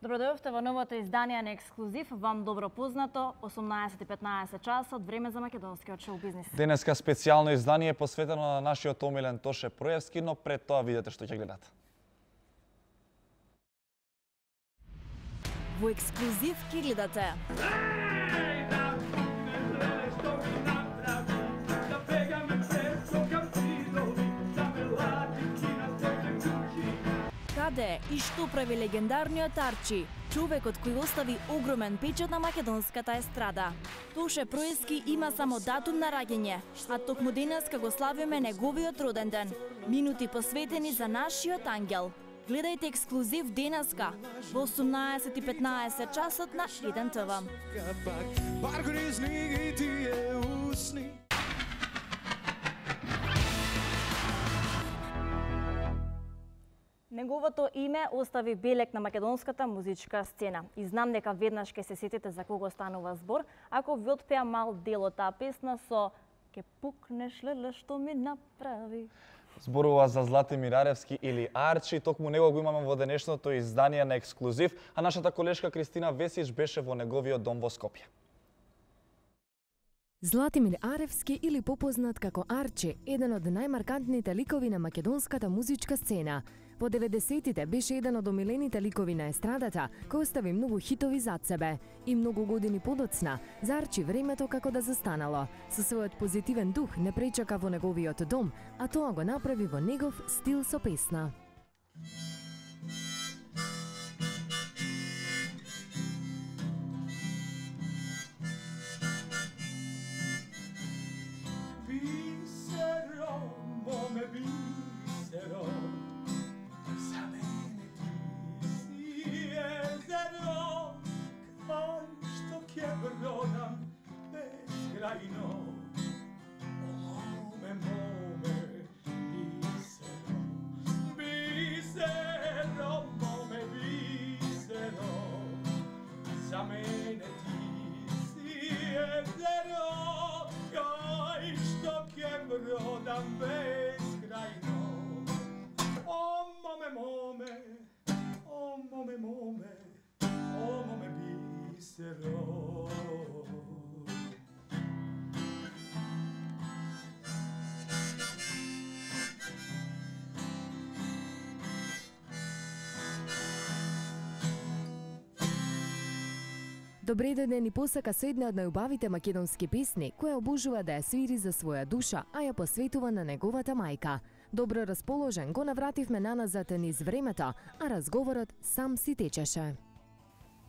Добродојавте во новото издание на Ексклузив, вам добро познато, 18:15 часот, време за македонскиот шоу-бизнис. Денеска специјално издание посветено на нашиот омилен Тоше Проевски, но пред тоа видете што ќе гледате. Во Ексклузив ќе гледате. Каде и што прави легендарниот Арчи, човекот кој остави огромен печат на македонската естрада. Тоше Проевски има само датум на раѓање, а токму денеска го славиме неговиот роден ден. Минути посветени за нашиот ангел. Гледајте Ексклузив денеска во 18:15 часот на 1 ТВ. Неговото име остави белег на македонската музичка сцена. И знам дека веднаш ќе се сетите за кого станува збор, ако ви отпеа мал дел од таа песна со "Ке пукнеш леле што ми направи". Зборува за Златимир Аревски или Арчи, токму него го имаме во денешното издание на Ексклузив, а нашата колешка Кристина Весич беше во неговиот дом во Скопје. Златимир Аревски, или попознат како Арчи, еден од најмаркантните ликови на македонската музичка сцена. Во 90-тите беше еден од омилените ликови на естрадата, кој остави многу хитови зад себе. И многу години подоцна, за Арчи времето како да застанало. Со својот позитивен дух не пречака во неговиот дом, а тоа го направи во негов стил со песна. Добре ден и посака со една од најубавите македонски песни, која обожува да ја свири за своја душа, а ја посветува на неговата мајка. Добро расположен го навративме наназад низ времето, а разговорот сам си течеше.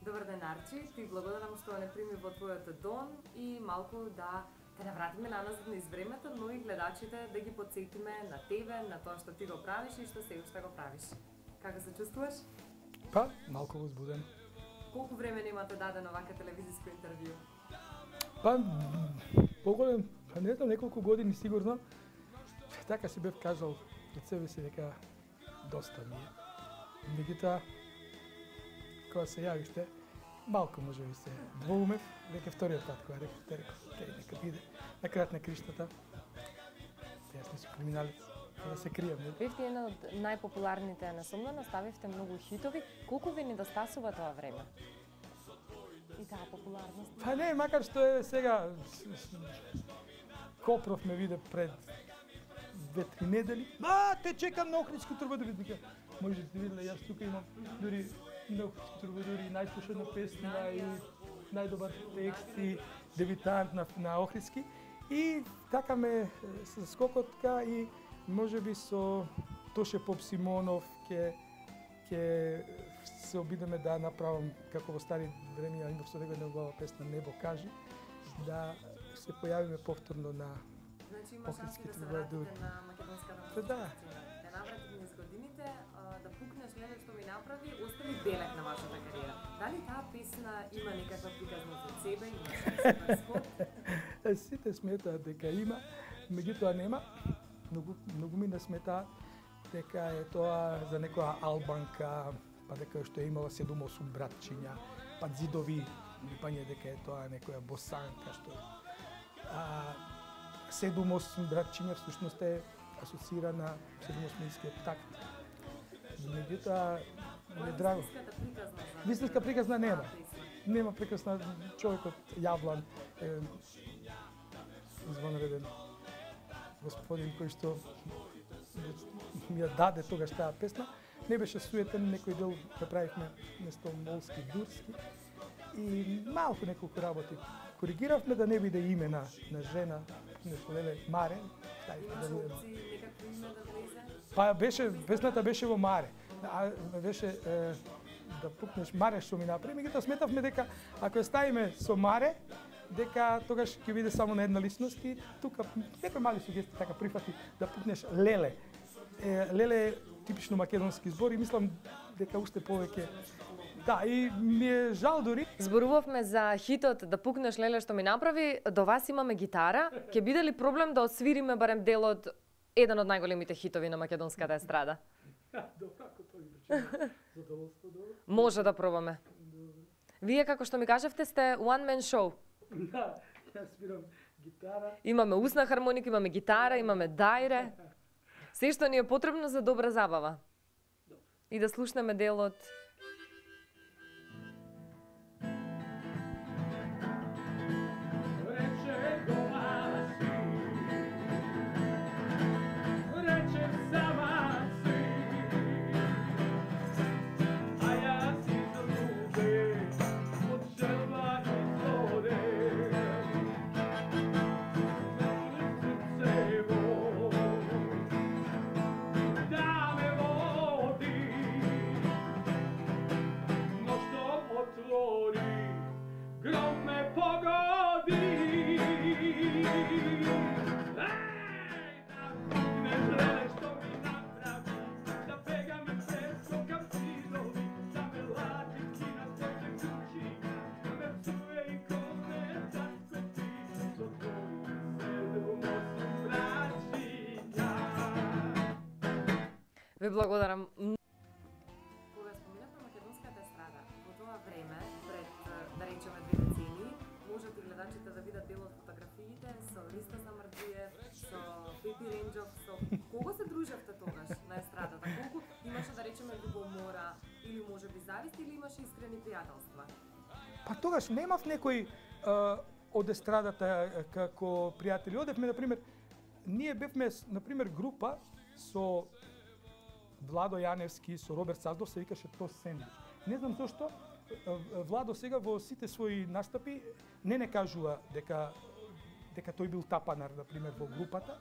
Добар ден, Арчи, ти благодарам што не прими во твојот дом и малку да те навратиме наназад низ времето, но и гледачите да ги подсетиме на тебе, на тоа што ти го правиш и што се уште го правиш. Како се чувствуваш? Па, малку возбуден. Колку време немате даден овака телевизиско интервју? Па, поголем, не знам, неколку години сигурно. Така си бев кажал од себе си дека доста ми е. Меѓутоа, кога се јавиште, малку може би се двоумев, веќе вториот пат кога реков, нека биде на крајот на криштата. Јас не сум криминалец, да се кријам. Бевте една од најпопуларните насомнено, ставивте многу хитови. Колку ви недостасува тоа време? И таа популарност? Па не, макар што е сега Копров ме виде пред 2-3 недели. Те чекам на Охридски трубадури. Може да виделе, јас тука имам дури на Охридски трубадури најслушана песна и најдобар текст и дебитант на Охридски. И така ме со скокотка и можеби со Тоше Поп Симонов ќе се обидеме да направам како во стари времења, имав со него негова песна Небо кажи, да се појавиме повторно на Охридски трубадури. На македонската музичка Да. Те наврати низ годините, да пукнеш леле што ми направи, остави белег на вашата кариера. Дали таа песна има некаква приказност од себе, има супер скот? Сите сметаат дека има, меѓутоа нема. Многу ми не сметаат дека е тоа за некоја албанка, па дека што е имала 7-8 братчиња, па зидови, пање дека е тоа некоја босанка што 7-8 братчиња всушност е асоцирана 7-8-скиот такт. Меѓутоа Ми е драго. Вистинска приказна нема. Нема прекрасна човекот Јаблан, извонреден господин кој што ми ја даде тогаш таа песна. Не беше суетен, некој дел направивме место молски, дурски и малку неколку работи коригиравме да не биде име на жена, нешто леле Маре, ставивме да биде. Па беше песната беше во Маре. Беше да пукнеш Маре што ми направи, меѓутоа сметавме дека ако ја ставиме со Маре, дека тогаш ќе биде само на една личност и тука некои мали сугестии така прифати да пукнеш Леле. Леле е типично македонски збор и мислам дека уште повеќе. Да, и ми е жал дури. Зборувавме за хитот Да пукнеш Леле што ми направи, до вас имаме гитара. Ќе биде ли проблем да освириме барем дел од еден од најголемите хитови на македонската естрада? Добро, ако тоа ги речеме. Задоволство, добро. Може да пробаме. Вие, како што ми кажавте, сте one man show. Да, ја свирам гитара. Имаме усна хармоника, имаме гитара, имаме дајре. Се што ни е потребно за добра забава. И да слушнеме делот. Ве благодарам. Кога споминавме македонската естрада, во тоа време, пред, да речеме, 2 децении, можат и гледачите да видат дел од фотографиите со Риста Самарджиев, со Пепи Ренџов, со кого се дружевте тогаш на естрадата? Колку имаше, да речеме, љубомора, или можеби завист, или имаше искрени пријателства? Па тогаш немав некој од естрадата како пријатели. Одевме, например, ние бевме, например, група со Владо Јаневски, со Роберт Саздов, се викаше Тос Сендвич. Не знам зошто, Владо сега во сите своји настапи не кажува дека тој бил тапанар, например, во групата,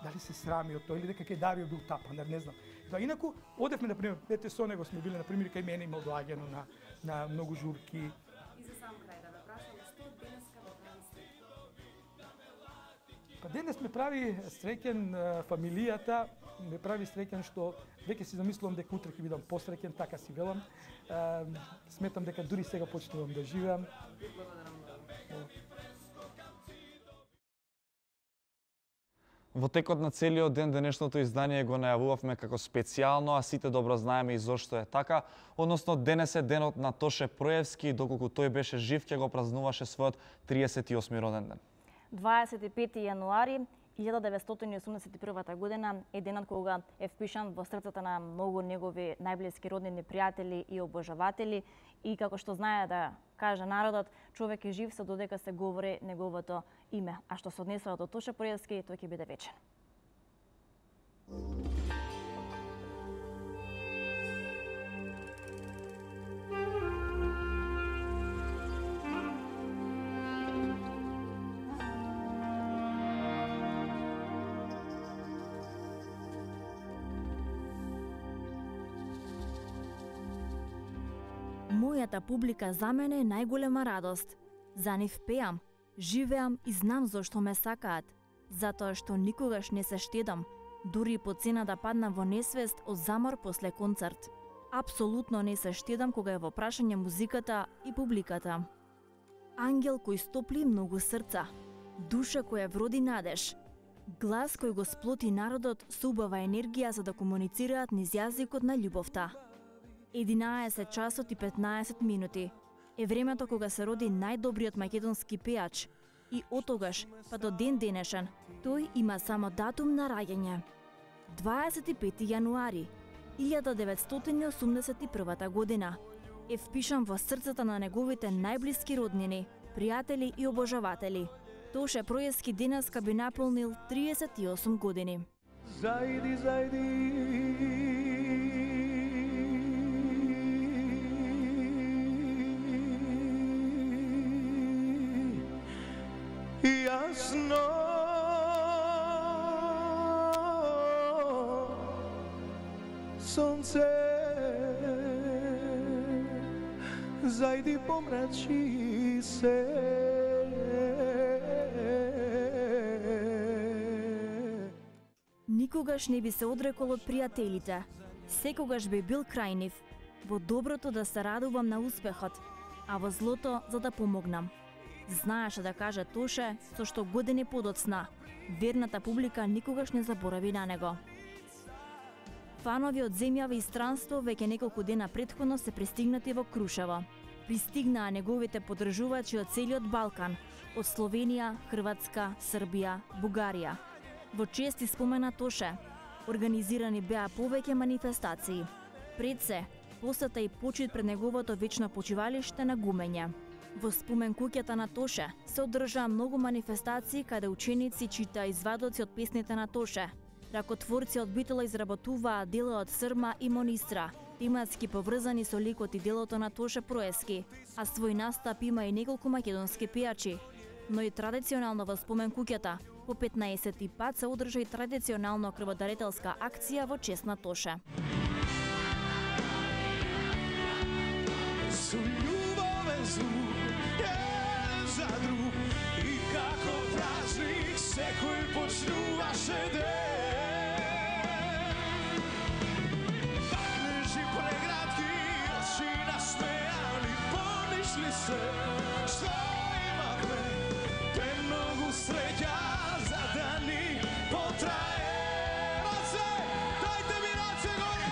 дали се срами од тој или дека кај Дарио бил тапанар, не знам. Инаку, одевме, например, ете со него сме биле, например, кај мене имал доаѓано на многу журки. И за сам крај да ве прашам, што денеска ве прави среќен? Па денес ме прави среќен фамилијата, ме прави среќен што веќе си замислувам дека утре ќе бидам посреќен, така си велам. Сметам дека дури сега почнувам да живеам. Благодарам многу. Во текот на целиот ден денешното издание го најавувавме како специјално, а сите добро знаеме и зошто е така. Односно, денес е денот на Тоше Проевски, доколку тој беше жив, ќе го празнуваше својот 38 роден ден. 25 јануари 1981 година е денот кога е впишан во срцата на многу негови најблиски роднини, пријатели и обожаватели. И како што знае да каже народот, човек е жив се додека се говори неговото име. А што се однесува до Тоше Проевски, тој ќе биде вечен. Мојата публика за мене е најголема радост. За нив пеам, живеам и знам зошто ме сакаат. Затоа што никогаш не се штедам, дури по цена да паднам во несвест од замор после концерт. Апсолутно не се штедам кога е во прашање музиката и публиката. Ангел кој стопли многу срца, душа која вроди надеж, глас кој го сплоти народот со убава енергија за да комуницираат низ јазикот на љубовта. 11 часот и 15 минути е времето кога се роди најдобриот македонски пеач и од тогаш па до ден денешен тој има само датум на раѓање. 25 јануари, 1981 година е впишан во срцата на неговите најблиски роднини, пријатели и обожаватели. Тоше Проески денеска би наполнил 38 години. Зајди, зајди. Јасно сонце зајди помрачи се. Никогаш не би се одрекол од пријателите. Секогаш би бил крај нив. Во доброто да се радувам на успехот, а во злото за да помогнам. Знаеше да каже Тоше, со што години подоцна, верната публика никогаш не заборави на него. Фанови од земјава и странство веќе неколку дена претходно се пристигнати во Крушево. Пристигнаа неговите поддржувачи од целиот Балкан, од Словенија, Хрватска, Србија, Бугарија. Во чест и спомена Тоше, организирани беа повеќе манифестации. Пред се, посета и почит пред неговото вечно почивалиште на Гумење. Во спомен куќата на Тоше се одржаа многу манифестации каде ученици читаа извадоци од песните на Тоше. Ракотворци од Битола изработуваа дела од Срма и Монистра, тематски поврзани со ликот и делото на Тоше Проески, а свој настап има и неколку македонски пејачи. Но и традиционално во спомен куќата, по 15 пат се одржа и традиционално крводарителска акција во чест на Тоше. Со љубовен звук, еден за друг, и како празник секој почнуваше ден. Пакнежи преградки, очи насмејани, помниш ли се, што имахме, те многу среќа за да ни потрае. Раце, дајте ми раце горе!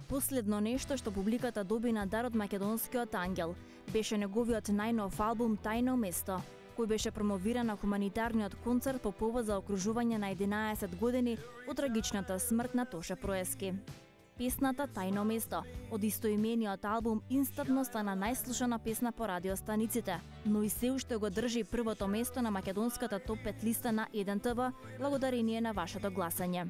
Последно нешто што публиката доби на дар од македонскиот ангел беше неговиот најнов албум Тајно место, кој беше промовиран на хуманитарниот концерт по повод за окружување на 11 години од трагичната смрт на Тоше Проески. Песната Тајно место од истоимениот албум инстантно стана најслушана песна по радиостаниците, но и се уште го држи првото место на македонската топ 5 листа на 1 ТВ благодарение на вашето гласање.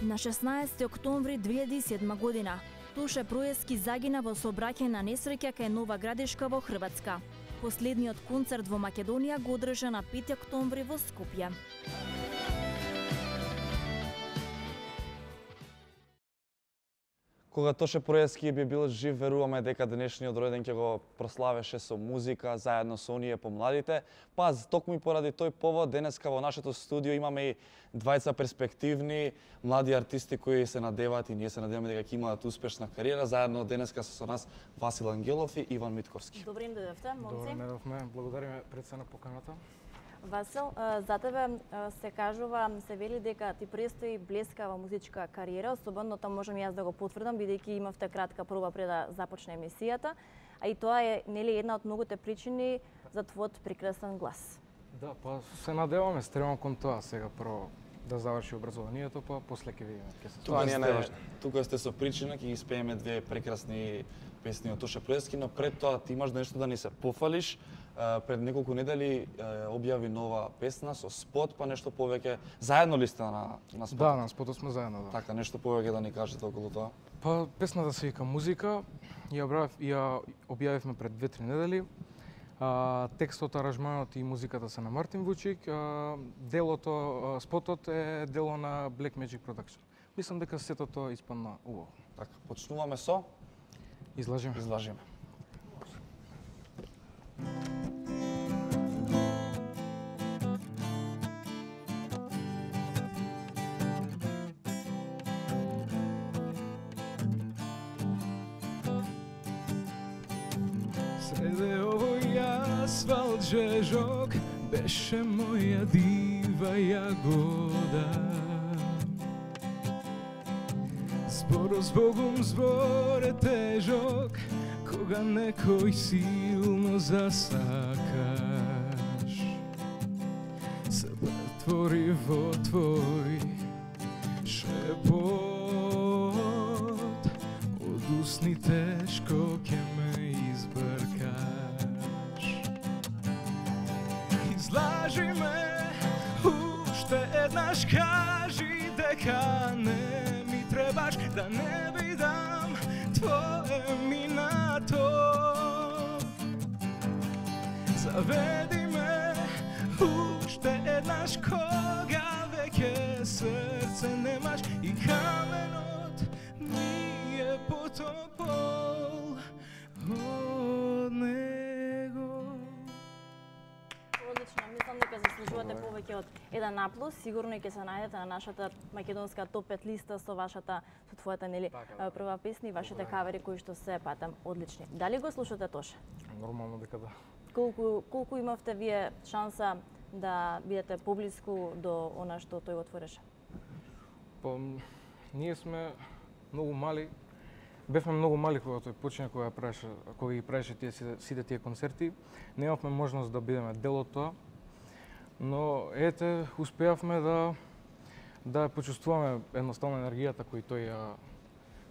На 16 октомври 2007 година Тоше Проески загина во сообраќајна несреќа кај Нова Градишка во Хрватска. Последниот концерт во Македонија го одржа на 5 октомври во Скопје. Кога Тоше Проески би бил жив, веруваме дека денешниот ројден ќе го прославеше со музика заедно со оние помладите. Па токму и поради тој повод денеска во нашето студио имаме и двајца перспективни млади артисти кои се надеваат и ние се надеваме дека ќе имаат успешна кариера. Заедно денеска со нас Васил Ангелов и Иван Митковски. Добре им дојдовте, момци. Добре дојдовме. Благодариме пред се на поканата. Васил, за тебе се кажува, се вели дека ти престои блескава музичка кариера, особено тоа можам јас да го потврдам, бидејќи имавте кратка проба пред да започне емисијата, а и тоа е нели една од многуте причини за твојот прекрасен глас. Да, па се надеваме, стремам кон тоа сега прво да заврши образованието, па после ќе видиме ќе се. Тоа не е најважно. Тука сте со причина, ќе ги спееме две прекрасни песни од Тоше Проески, но пред тоа ти имаш нешто да ни се пофалиш. Пред неколку недели објави нова песна со спот, па нешто повеќе. Заедно ли сте на спотот? Да, на спотот сме заедно, да. Така, нешто повеќе да ни кажете околу тоа? Па песната се вика Музика, ја објавивме пред 2-3 недели. Текстот, аранжманот и музиката се на Мартин Вучик. Делото, спотот е дело на Black Magic Production. Мислам дека сето тоа испадна убаво. Така, почнуваме со Излажиме. Излажиме. Среде овој асфалт жежок, беше моја дива јагода. Зборо збогом збор е тежок, кога некој силно засакаш. Се претвори во твој шепот, од усни тешко ќе ме избркаш. Излажи ме, уште еднаш кажи дека не ми требаш, да не бидам твое минато. Заведи ме уште еднаш кога веќе срце немаш и каменот ми е потопол од него. Одлично, мислам дека заслужувате повеќе од 1+, сигурно и ќе се најдете на нашата македонска топ 5 листа со твојата нели прва песна и вашите кавери кои што се патам одлични. Дали го слушате Тоше? Нормално дека да. Колку имавте вие шанса да бидете поблиску до она што тој отвореше? Ние сме многу мали. Бевме многу мали кога тој почина, кога ги правеше сите тие концерти. Немавме можност да бидеме дел од тоа. Но ете, успеавме да почувствуваме едноставно енергијата кој тој ја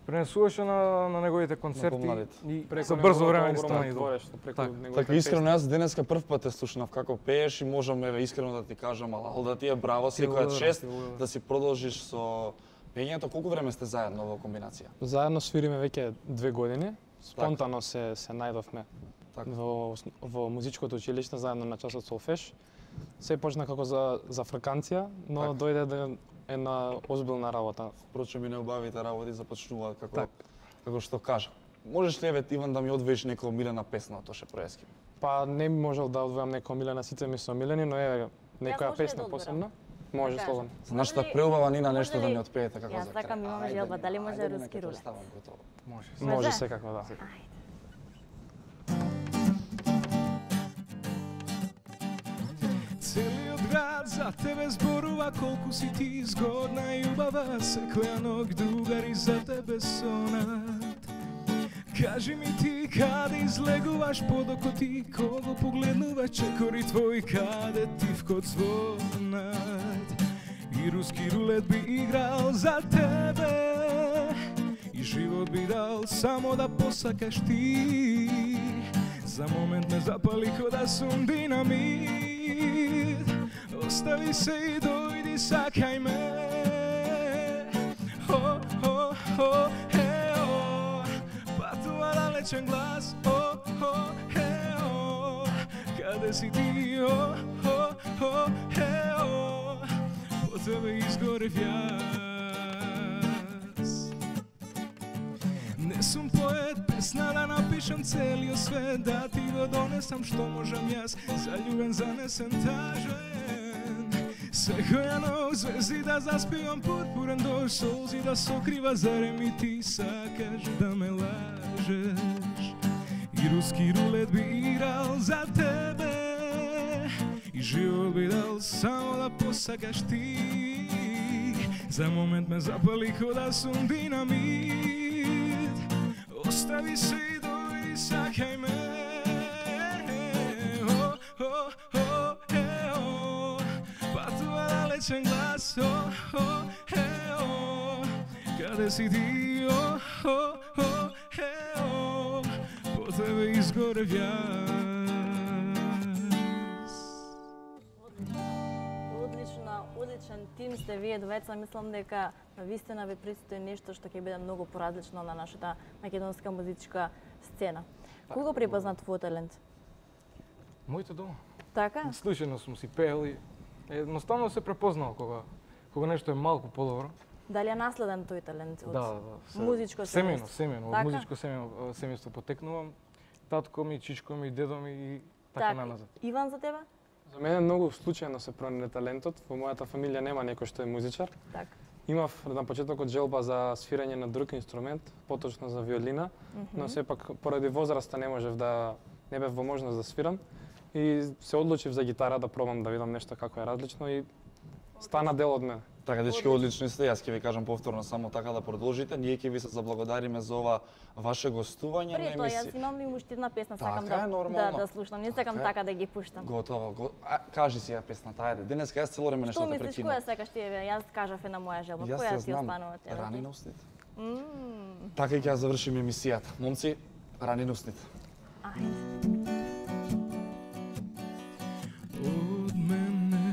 пренесуваше на неговите концерти и за брзо време ни стана идол. Така искрено јас денеска прв пат те слушнав како пееш и можам искрено да ти кажам ал да ти е браво, секоја чест да си продолжиш со пењето. Колку време сте заедно во комбинација? Заедно свириме веќе 2 години. Спонтано се најдовме во музичкото училиште заедно на часот солфеж. Се почна како за фрканција, но дојде до една озбилна работа. Впрочем и неубавите работи започнуваат како што кажа. Можеш ли Иван да ми одвоиш некоја омилена песна од Тоше Проевски? Па не би можел да одвојам некоја омилена, сите ми се омилени, но некоја песна посебна. Може слободно. За нашата преубава Нина нешто да ни отпеете како за крај. Јас сакам, имаме желба, дали може руски рулет? Може секако да. Целиот град за тебе зборува колку си ти згодна и убава, секоја ног другари за тебе сонат. Кажи ми ти каде излегуваш под око ти, кого погледнува чекори твој, каде тивкот звонат. И руски рулет би играл за тебе и живот би дал само да посакаш ти. За момент ме запали ко да сум динамит. Остави се и дојди сакај ме. Патува далечен глас. Каде си ти? По тебе изгорев јас. Не сум поет, песна да напишам целиот свет, да ти го донесам што можам јас, заљубен, занесен, тажен. Секоја ног звезди да заспивам пурпурен дожд, солзи да сокрива, зарем и ти сакаш да ме лажеш. И руски рулет би играл за тебе и живот би дал само да посакаш ти. За момент ме запали ко да сум динамит. Остави се и дојди сакај ме. Патува далечен глас. Каде си ти? По тебе изгорев јас. Одличен тим сте вие двајца, мислам дека навистина ви предстои нешто што ќе биде многу поразлично на нашата македонска музичка сцена. Кога препозна твојот талент? Моите дома. Така? Случајно сум си пеел и едноставно се препознал кога нешто е малку подобро. Дали е наследен тој талент од музичко семејно? Семејно, од музичко семејство потекнувам. Татко ми, чичко ми, дедо ми и така наназад. Иван, за тебе? За мене многу случајно се пронајде талентот. Во мојата фамилија нема некој што е музичар. Така. Имав на почетокот желба за свирење на друг инструмент, поточно за виолина, но сепак поради возраста не бев во можност да свирам. и се одлучив за гитара да пробам да видам нешто како е различно и стана дел од мене. Така, дечки, одлично сте. Јас ќе ви кажам повторно само така да продолжите. Ние ќе ви се заблагодариме за ова ваше гостување на емисија. Пред тоа, јас имам и уште една песна, сакам да слушам. Не сакам така да ги пуштам. Готово. Кажи си ја песната, ајде. Денеска јас цело време нешто да те прекинам. Што мислиш, која сакаш ти? Јас кажав една моја желба. Која ти останува тебе? Рани на устните. Така и ќе завршим емисијата. Момци, рани на устните. Ајде. Од мене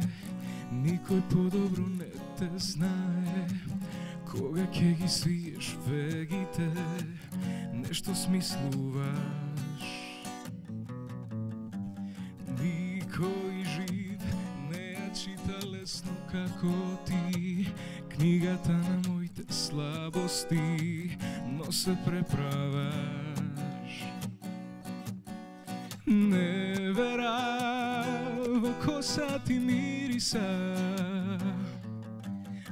никој подобро не те знае, кога ќе ги свиеш вегите, нешто смислуваш. Никој жив не ја чита лесно како ти, книгата на моите слабости, но се преправаш. Не вера во коса ти мириса,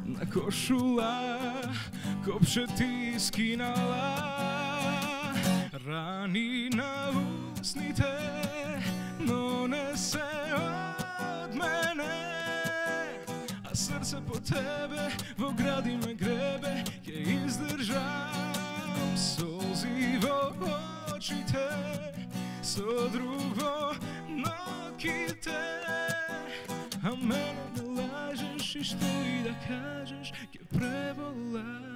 на кошула копче ти скинала, рани на устните, но не се од мене, а срце по тебе во гради ме гребе, ќе издржам солзи во очите, со друг во ноките, а мене не лажеш и што и да кажеш ќе преболам.